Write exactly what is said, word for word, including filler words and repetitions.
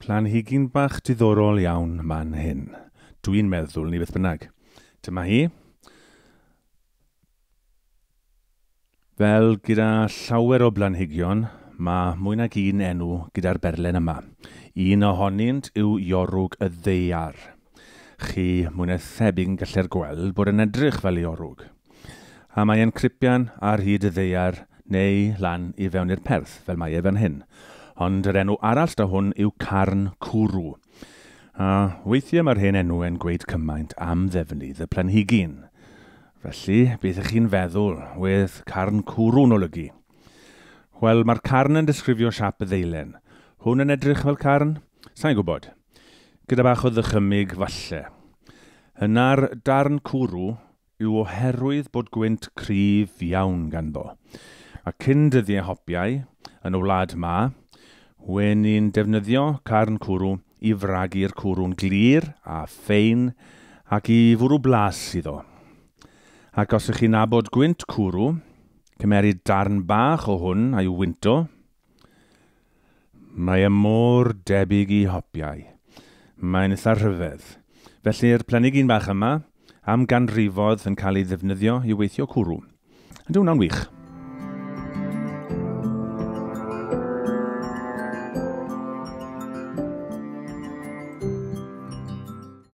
Planhigyn bach diddorol iawn man hyn. Dwi'n meddwl ni beth bynnag. Dyma hi. Fel gyda llawer o blanhigion, mae mwy nag un enw gyda'r berlen yma. Un ohonynt yw iorwg y ddaear. Chi mwy na thebyg yn gallu'r gweld bod yn edrych fel iorwg. A mae e'n cripian ar hyd y ddaear neu lan i fewn i'r perth, fel mae e fan hyn. Ond yr enw arall da hwn yw carn cwrw. A weithiau mae'r hen enw yn gweud cymaint am ddefnydd y planhigyn. Felly, beth ych chi'n feddwl wedd carn cwrw'n olygu? Wel, mae'r carn yn disgrifio siâp y ddeilen. Hwn yn edrych fel carn? Sa i'n gwybod. Gyda bach o ddychymyg falle. Yna'r darn cwrw yw oherwydd bod gwynt cryf iawn ganddo. A cyn dyddiau hopiau, yn y wlad ma, wen ni'n defnyddio carn cwrw i fragu'r cwrw'n glir a ffein ac i fwrw blas iddo. Ac os ych chi'n nabod gwynt cwrw, cymeru darn bach o hwn a'i wynto, mae e mor debyg i hopiau. Mae'n eitha rhyfedd. Felly'r planhigyn bach yma am ganrifoedd yn cael ei ddefnyddio i weithio cwrw. Ydy hwnna'n wych?